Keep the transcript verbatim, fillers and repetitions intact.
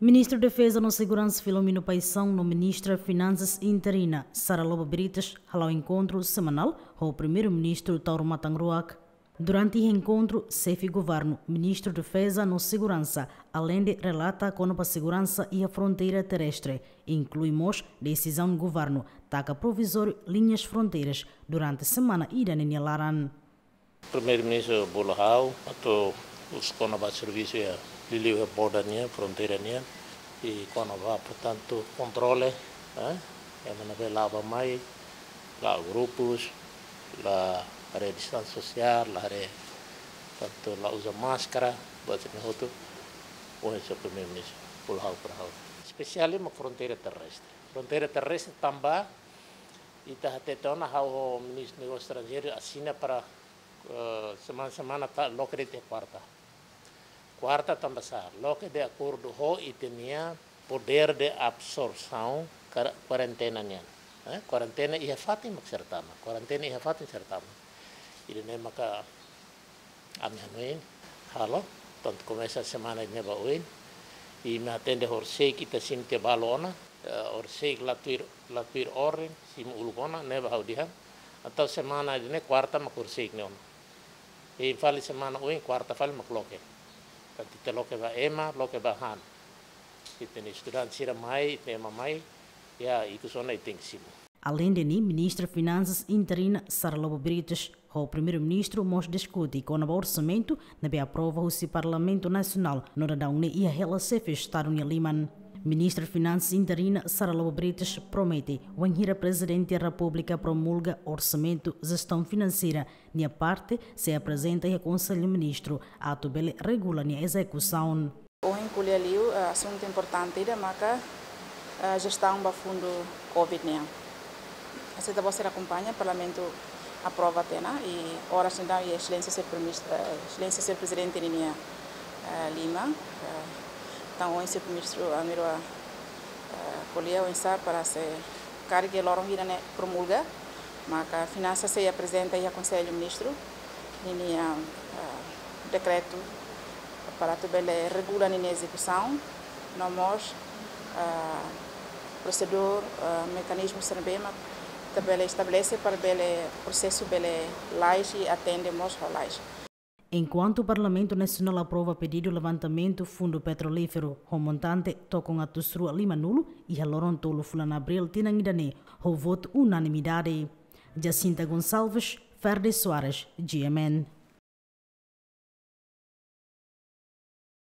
Ministru Defeza no Seguransa Filomeno Paixão no Ministra Finansas interina Sara Lobo Brites hala'o enkontru semanál ho Primeiru-Ministru Taur Matan Ruak. Durante enkontru, xefe governu, Ministru Defeza no Seguransa, aleinde relata kona-ba seguransa iha fronteira terrestre, inklui mós desizaun governu taka provizóriu liñas fronteiras durante semana ida-ne'e nia laran. Primeiru-Ministru bolu ha'u atu husu kona-ba servisu iha liuliu iha border nian, fronteira nian, i kona-ba, portantu, kontrole, eh, ema ne'ebé la'o bá mai, la'o grupus, la haree distánsia sosiál, la haree, portantu, la uza máskara, buat ne'e hotu, oinsá Primeiru-Ministru bolu ha'u para ha'u. Espesiál mak fronteira terrestre. Fronteira terrestre tanba ita hatete ona, ha'u ho Ministru Negósiu Estranjeiru asina para, eh, semana-semana ita loke de'it iha kuarta. Kuarta tanba sá, loke de akordu ho ita-nia podér de absorsaun kar-, kuarentena nian. Eh, kuarentena iha fatin mak sira tama, kuarentena iha fatin sira tama. Ida-ne'e maka ami hanoin halo, portantu, komesa semana ne'e ba oin. I imi hatene horisehik ita simu tiha balu ona, eh, horisehik la tuir, la tuir orden, simu uluk ona, ne'ebá ha'u dehan. Entaun semana ida-ne'e kuarta mak horisehik ne'e ona. I fali semana oin kuarta fali mak loke. Portantu, ita loke ba ema, loke ba han. Ita-nia estudante sira mai, ita ema mai, ya, ikus ona ita tenke simu. Aleinde ne'e, Ministra Finansas interina Sara Lobo Brites ho Primeiru-Ministru mós diskute kona-ba orsamentu ne'ebé aprova husi Parlamentu Nasionál no daudaun ne'e iha hela xefe Estadu nia liman. Ministra Finansas interina Sara Lobo Brites promete, wainhira Prezidente Repúblika promulga orsamentu jestaun finanseira, nia parte sei aprezenta iha Konsellu Ministru atu bele regula nia ezekusaun. Ohin ko'alia liu, eh, asuntu importante ida maka, eh, jestaun ba fundu covid nian. Hanesan ita-boot sira akompaña, Parlamentu aprova tiha ona, i oras ne'e daudaun iha Exelénsia Señór Primeiru-Ministru, eh, Exelénsia Señór Prezidente ninia, eh, liman, eh, entaun ohin Señór Primeiru-Ministru Almiró, eh, ko'alia oinsá para se karik loron hira-ne'e promulga, maka Finansas sei aprezenta iha Konsellu Ministru ninia, ah, dekretu para atu bele regula ninia ezekusaun, no mós, ah, prosedura, ah, mekanizmu sira ne'ebé mak ita bele estabelese para bele prosesu bele lalais i atende mós lalais. Enkuantu Parlamentu Nasionál aprova pedidu levantamentu fundu petrolíferu ho montante tokon atus rua limanulu iha loron tolu fulan Abríl tinan ida-ne'e ho votu unanimidade. Jacinta Gonçalves, Ferde Soares, G M N.